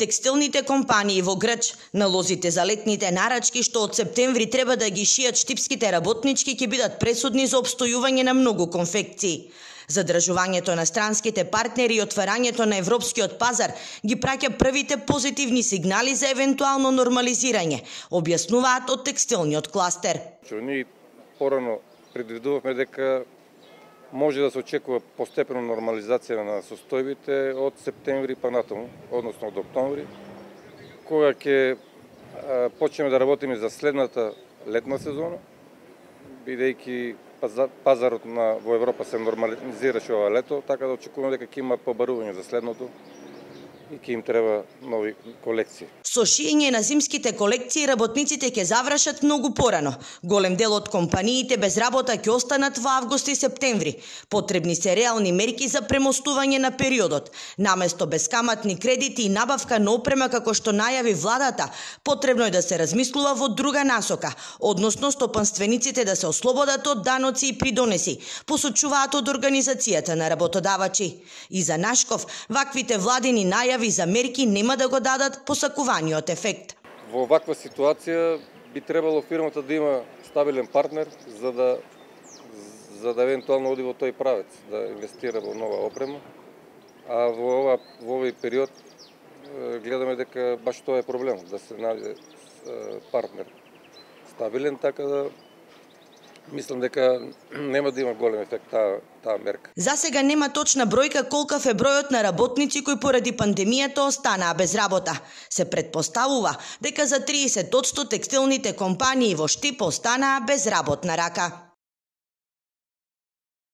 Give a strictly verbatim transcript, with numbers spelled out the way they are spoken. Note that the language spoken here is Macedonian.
Текстилните компании во Грч, налозите за летните нарачки што од септември треба да ги шијат штипските работнички ќе бидат пресудни за опстојување на многу конфекции. Задржувањето на странските партнери и отварањето на европскиот пазар ги праќа првите позитивни сигнали за евентуално нормализирање, објаснуваат од текстилниот кластер. Ние порано предвидувавме дека може да се очекува постепено нормализација на состојбите од септември па натаму, односно од октомври, кога ќе почнеме да работиме за следната летна сезона, бидејќи пазарот на во Европа се нормализираше ова лето, така да очекуваме дека ќе има побарување за следното и ќе им треба нови колекции. Со шиење на зимските колекции работниците ќе завршат многу порано. Голем дел од компаниите без работа ќе останат во август и септември. Потребни се реални мерки за премостување на периодот. Наместо бескаматни кредити и набавка на опрема како што најави владата, потребно е да се размислува во друга насока, односно стопанствениците да се ослободат од даноци и придонеси, посочуваат од организацијата на работодавачи. И за Нашков, ваквите владини најави за мерки нема да го дадат посакуваниот ефект. Во ваква ситуација би требало фирмата да има стабилен партнер за да за да евентуално оди во тој правец, да инвестира во нова опрема. А во ова во овој период гледаме дека баш тоа е проблем, да се најде партнер стабилен, така да мислам дека нема да има голем ефект таа таа мерка. За сега нема точна бројка колкав е бројот на работници кои поради пандемијата останаа без работа. Се претпоставува дека за триесет одсто текстилните компании во Штип останаа без работна рака.